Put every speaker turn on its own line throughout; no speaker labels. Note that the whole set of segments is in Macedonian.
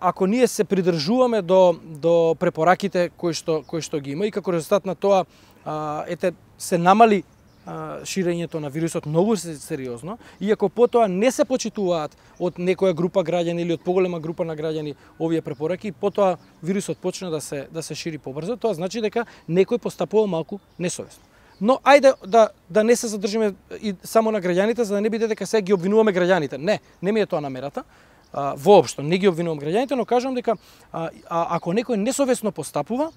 Ако ние се придржуваме до препораките кои што ги има и како резултат на тоа се намали ширењето на вирусот многу сериозно, и ако потоа не се почитуваат од некоја група граѓани или од поголема група на граѓани овие препораки, потоа вирусот почне да се шири побрзо, тоа значи дека некој постапува малку несовесно. Но ајде да не се задржиме и само на граѓаните, за да не биде дека сега ги обвинуваме граѓаните. Не ми е тоа намерата. Воопшто не ги обвинувам граѓаните, но кажувам дека ако некој несовесно постапува,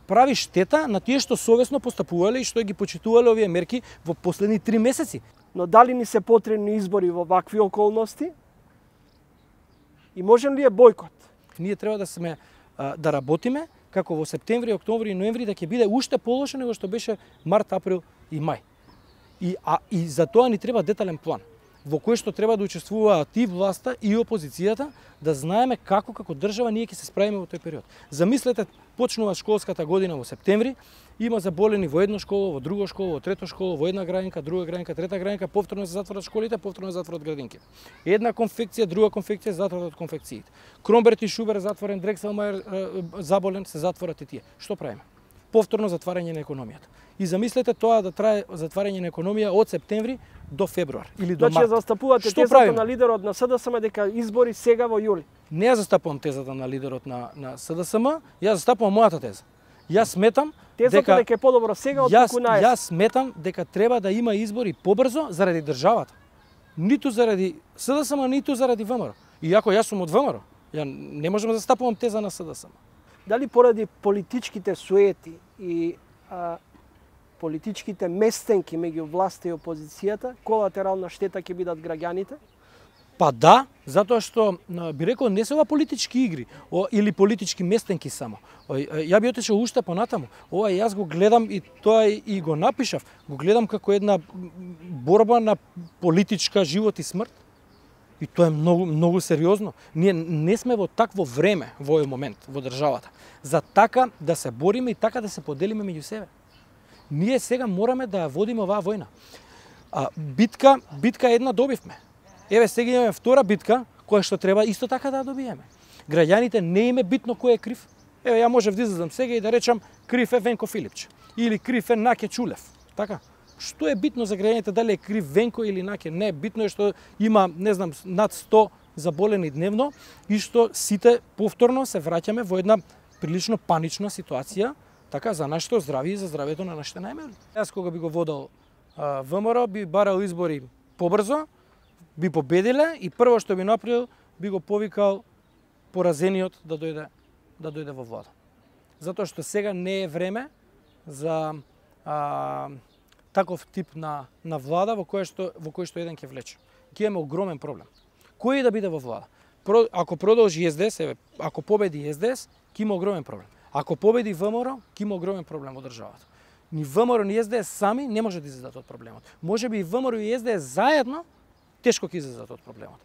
прави штета на тие што совесно постапувале и што ги почитувале овие мерки во последни 3 месеци.
Но дали ни се потребни избори во вакви околности? И можен ли е бойкот?
Ние треба да работиме како во септември, октомври и ноември да ќе биде уште полошо него што беше март, април и мај. И за тоа ни треба детален план во кој што треба да учествуваат и власта и опозицијата, да знаеме како држава ние ќе се справиме во тој период. Замислете, почнува школската година во септември, има заболени во едно школо, во друго школо, во трето школо, во една граѓанка, друга граѓанка, трета граѓанка, повторно се затворат школите, повторно се затворат градинките. Една конфекција, друга конфекција, затворат конфекциите. Кромберт и Шубер затворен, Дрекселмајер заболен, се затворат и тие. Што правиме? Повторно затварање на економијата. И замислете тоа да трае затварање на економија од септември до февруар или до март.
Значи застапувате тезата на лидерот на СДСМ дека избори сега во јули.
Не ја застапувам тезата на лидерот на СДСМ, ја застапувам мојата теза. Јас сметам
дека е подобро сега отколку наесен.
Јас сметам дека треба да има избори побрзо заради државата. Ниту заради СДСМ, ниту заради ВМРО. Иако јас сум од ВМРО, ја не можам да застапувам теза на СДСМ.
Дали поради политичките суети и политичките местенки меѓу власта и опозицијата, колатерална штета ќе бидат граѓаните?
Па да, затоа што би рекол не се ова политички игри или политички местенки само. Ја би отишел уште понатаму. Ова јас го гледам и тоа и го напишав. Го гледам како една борба на политичка живот и смрт. И тоа е многу сериозно. Ние не сме во такво време во овој момент во државата за така да се бориме и така да се поделиме меѓу себе. Ние сега мораме да ја водиме оваа војна. Битка една добивме. Еве сега имаме втора битка која што треба исто така да ја добиеме. Граѓаните не им е битно кој е крив. Еве ја можев да излезам сега и да речам крив е Венко Филипче или крив е Наке Чулев. Така. Што е битно за граѓаните дали е крив Венко или Наке? Не, битно е што има, не знам, над 100 заболени дневно и што сите повторно се враќаме во една прилично панична ситуација, така за нашето здравје и за здравјето на нашите најмали. Јас кога би го водел ВМРО, би барал избори побрзо, би победиле и прво што би направил, би го повикал поразениот да дојде во влада. Затоа што сега не е време за таков тип на влада во кој што еден ќе влече. Ќе имаме огромен проблем. Кој да биде во влада? Ако продолжи СДС, ако победи СДС, ќе има огромен проблем. Ако победи ВМРО, ќе има огромен проблем во државата. Ни ВМРО ни СДС сами не може да излезат од проблемот. Можеби и ВМРО и СДС заедно тешко ќе излезат од проблемот.